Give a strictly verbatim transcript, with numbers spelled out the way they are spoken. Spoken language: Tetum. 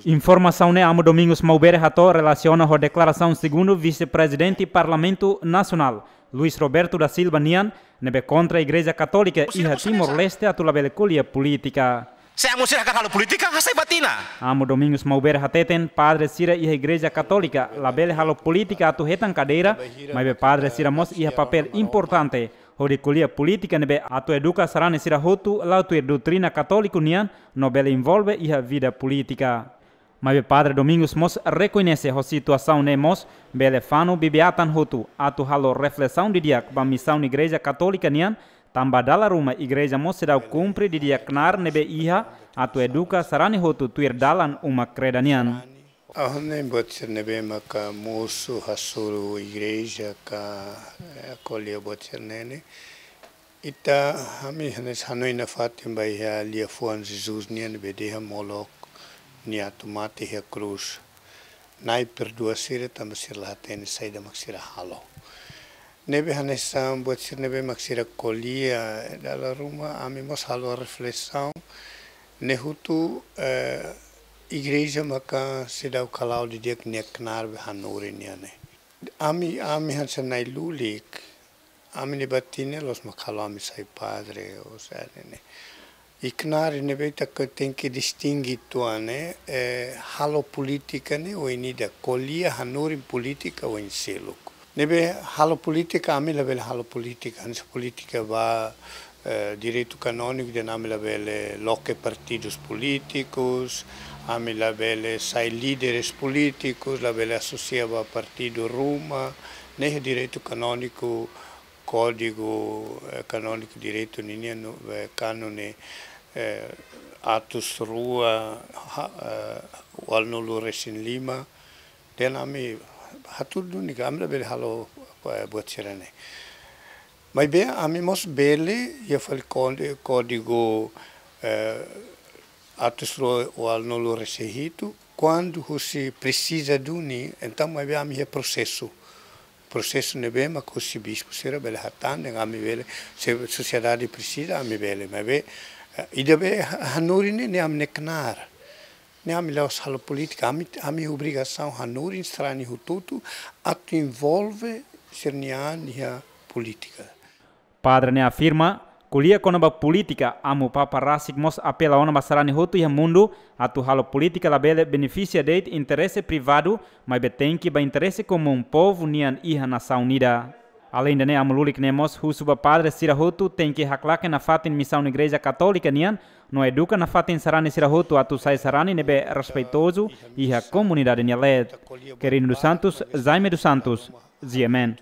Informasaun ne'e Amu Domingos Maubere hato'o relasiona ho deklarasaun segundu Vise-Prezidente Parlamentu Nasionál, Luis Roberto da Silva nian, ne'ebé kontra Igreja Katólika iha Timor-Leste atu labele ko'alia polítika. Se amu sira hakarak halo polítika, hasai ba tinan. Amu Domingos Maubere hateten, padre sira iha Igreja Katólika labele halo polítika atu hetan kadeira, maibé padre sira mós iha papél importante hodi ko'alia polítika ne'ebé atu eduka sarani sira hotu la'o tuir doutrina katóliku nian, no bele envolve iha vida polítika. Maibé padre Domingos mós rekoñese ho situasaun ne'e mós bele fanu bibi-atan hotu atu halo reflesaun didi'ak ba misaun Igreja Katólika nian, tanba dala ruma Igreja mós seidauk kumpre didi'ak knaar ne'ebé iha atu eduka sarani hotu tuir dalan uma-kreda nian. Ha'u hanoin buat sira ne'ebé maka mosu hasoru Igreja ka, eh, ko'alia buat sira ne'e ne'e. Ita, ami hanesan hanoin nafatin ba iha liafuan Jesus nian ne'ebé dehan molok nia atu mate iha krús. Na'i perdua sira tanba sira la hatene saida mak sira halo. Ne'ebé hanesan buat sira ne'ebé mak sira ko'alia, dala ruma ami mós halo reflesaun. Ne'e hotu, eh, Igreja maka seidauk hala'o didi'ak nia knaar be hanorin nian ne'e. Ami, ami hanesan na'i-lulik, ami-nia batin ne'e la'ós mak halo ami sai padre ou sai ne'e. I knaar ne'ebé ita ke tenke distinge uitoan ne'e, eh, halo polítika ne'e oin ida, ko'alia hanorin polítika oin seluk. Ne'ebé halo polítika, ami labele halo polítika, hanesan polítika ba, eh, direitu kanóniku dehan ami labele loke partidus polítikus, ami labele sai líderes polítikus, labele asosia ba partidu ruma, ne'e direitu kanóniku, kódigu, eh, kanóniku direitu ninian no, eh, kanun ne'e, eh, atus rua, ha-, eh, ualunulu-resin-lima, dehan ami hatudu ni ami labele halo, eh, buat sira ne'e. Maibé ami mós bele, iha fali kódi-, kódigu, eh, atus rua ualunulu-resin-hitu, kuandu husi presiza duni, entaun maibé ami iha prosesu. Prosesu ne'ebé mak husi bispu sira bele hatán, dehan ami bele, se sosiedade presiza, ami bele, maibé, eh, ida be ha-, hanorin ne'e, ne'e ami-nia knaar. Ne'e ami la'ós halo polítika, ami, ami obrigasaun hanorin sarani hotu-hotu atu envolve sira-nia an iha polítika. Padre ne'e afirma, ko'alia kona-ba polítika, Amu Papa rasik mós apela ona ba sarani hotu iha mundu, atu halo polítika labele benefisia de'it interese privadu, maibé tenke ba interese komún povu nian iha nasaun ida. Aleinde ne'e, Amu Lulik ne'e mós husu ba padre sira hotu tenke haklaken nafatin misaun Igreja Katólika nian, no eduka nafatin sarani sira hotu atu sai sarani ne'ebé respeitozu iha komunidade nia leet. Quirino dos Santos, Jaime dos Santos, G M N.